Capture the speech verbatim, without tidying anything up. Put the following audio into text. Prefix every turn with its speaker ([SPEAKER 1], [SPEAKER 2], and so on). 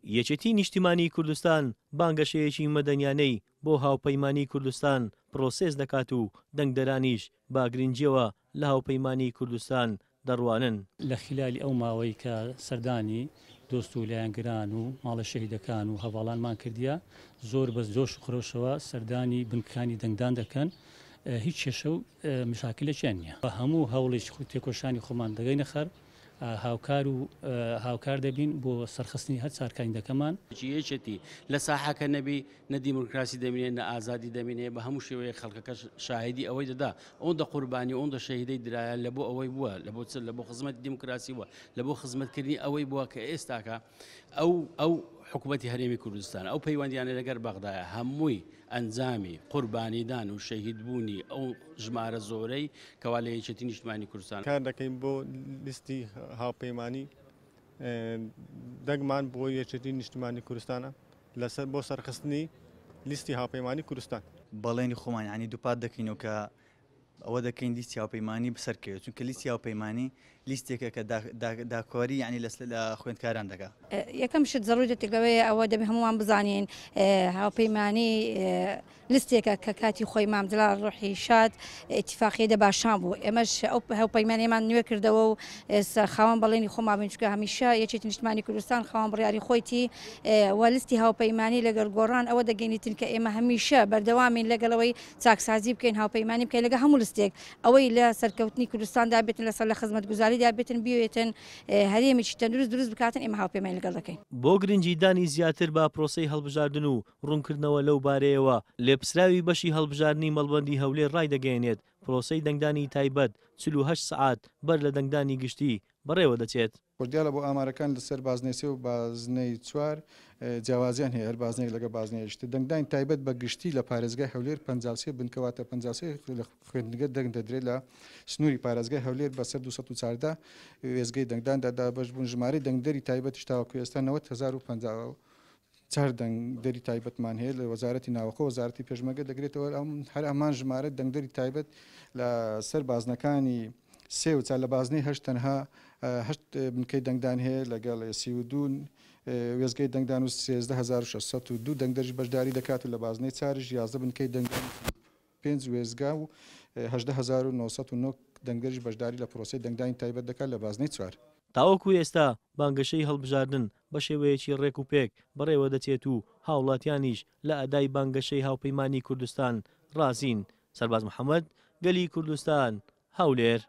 [SPEAKER 1] یەکێتی نیشتیمانی کوردستان بانگەشەیەکی مەدەنیانەی بۆ هاوپەیمانی کوردستان پرۆسێس دەکات و دەنگدەرانیش بە گرنگیەوە لە هاوپەیمانی کوردستان دەڕوانن.
[SPEAKER 2] لە خلالی ئەو ماوەی کە سەردانی دۆست و لایەنگران و ماڵە شەهیدەکان و هەڤاڵانمان کردیە، زۆر بە جۆش و خرۆشەوە سەردانی بنکەکانی دەنگدان دەکەن، هیچ کێشە و مشاکلێکیان نییە. هەموو هەوڵێکی تێکۆشانی خۆمان دەگەینە خەر، هاوکار و هاوکار دەبین بۆ سەرخستنی هەر چوار کاندیدەکەمان.
[SPEAKER 3] یەکێتی لە ساحەکە نەبی نە دیموکراسی دەمینێ نە ئازادی دەمینێ، بە هەموو شێوەیە خەڵکەکەش شاهیدی ئەوەی دەدا. ئەوەندە قوربانی ئەوەندە شەهیدەی درایە لە بۆ ئەوەی بووە، لە بۆ چ؟ لە بۆ خزمەتی دیموکراسی بووە، لە بۆ خزمەتکردنی ئەوەی بووە کە ئێستاکە ئەو ئەو حکوومەتی هەرێمی کوردستان ئەو پەیوەندیانە لەگەر بەغدایە هەمووی ئەنجامی قوربانیدان و شەهیدبوونی ئەو ژمارە زۆرەی کەوا لە یەکێتی نیشتمانی کوردستان.
[SPEAKER 4] کار دەکەین بۆ لیستی هاوپەیمانی دەنگمان بۆ یەکێتی نیشتمانی کوردستانە لەسەر بۆ سەرخستنی لیستی هاوپەیمانی کوردستان.
[SPEAKER 5] بەڵێنی خۆمان یعنی دووپات دەکەینەوە کە ئەوە دەکەین لیستی هاوپەیمانی بسەرکەوێت، چونکە لیستی هاوپەیمانی لیستێکە کە داکۆری یعنی لە خوێندکاران دەکا.
[SPEAKER 6] یەکەم شت زەڕوورەتێک لەوەیە ئەوە دەبێ هەمووان بزانین هاوپەیمانی لیستێکە کە کاتی خۆی مام جەلال ڕۆحی شاد ئیتیفاقیە دەباشان بوو. ئێمەش ئەو هاوپەیمانیمان نوێ کردەوە و خاوەن بەڵێنی خۆمان بین، چونکە هەمیشە یەکێتی نیشتمانی کوردستان خاوەن بڕیاری خۆیتی و لیستی هاوپەیمانی لەگەڵ گۆڕان ئەوە دەگەینیتن کە ئێمە هەمیشە بەردەوامین لەگەڵەوەی چاکسازی بکەین، هاوپەیمانی بکەین لەگەڵ هەموو لیستێک، ئەوەی لە سەرکەوتنی کوردستاندا بێتن، لەسەر لە خزمەتگوزاریدا بێتن، بیێتن هەرێمێکی تەندروست دروست بکاتن، ئێمە هاوپەیمانی لەگەڵ دەکەین.
[SPEAKER 1] بۆ گرنگیدانی زیاتر بە پرۆسەی هەڵبژاردن و ڕوونکردنەوە لەو بارەیەوە، لێپرسراوی بەشی هەڵبژاردنی مەڵبەندی هەولێر ڕایدەگەیەنێت پرۆسەی دەنگدانی تایبەت چل و هەشت سەعات بەر لە دەنگدانی گشتی بەڕێوە دەچێت.
[SPEAKER 7] دیارە بۆ ئامارەکان لەسەر بازنەی سێ و بازنەی چوار جیاوازیان هەیە، هەر بازنەیەک لەگەڵ بازنەیەکی تر. دەنگدانی تایبەت بە گشتی لە پارێزگای هەولێر پەنجا و سێ بنکەواتە پەنجا و سێ لە خوێندنگە دەنگ دەدرێت لە سنووری پارێزگای هەولێر بەسەر دوو سەد و چواردە وێزگەی دەنگداندا دابەش بوون. ژمارەی دەنگدەری تایبەتیش تاوەکو ئێستا نەوەد هەزار و پەنجا و چوار دەنگدەری تایبەتمان هەیە لە وەزارەتی ناوەخۆ، وەزارەتی پێشمەرگە دەگرێتەوە. هەر ئەمان ژمارە دەنگدەری تایبەت لە سەر بازنەکانی سێ و چوار، لە بازنەی هەشت تەنها هەشت بنکەی دەنگدان هەیە لەگەڵ سی و دوو وێزگەی دەنگدان و سێزدە هەزار و شەش سەد و دوو دەنگدەریش بەشداری دەکات و لە بازنەی چاریش یازدە بنکەی دەنگدان پێنج وێزگا و هەژدە هەزار و نۆ سەد و نۆ دەنگدەریش بەشداری لە پرۆسەی دەنگدانی تایبەت دەکات لە بازنەی چوار.
[SPEAKER 1] تاوەکو ئێستا بانگەشەی هەڵبژاردن بە شێوەیەکی ڕێک و پێک بەڕێوە دەچێت و هاوڵاتیانیش لە ئەدای بانگەشەی هاوپەیمانی کوردستان ڕازین. سەرباز محەممەد، گەلی کوردستان، هەولێر.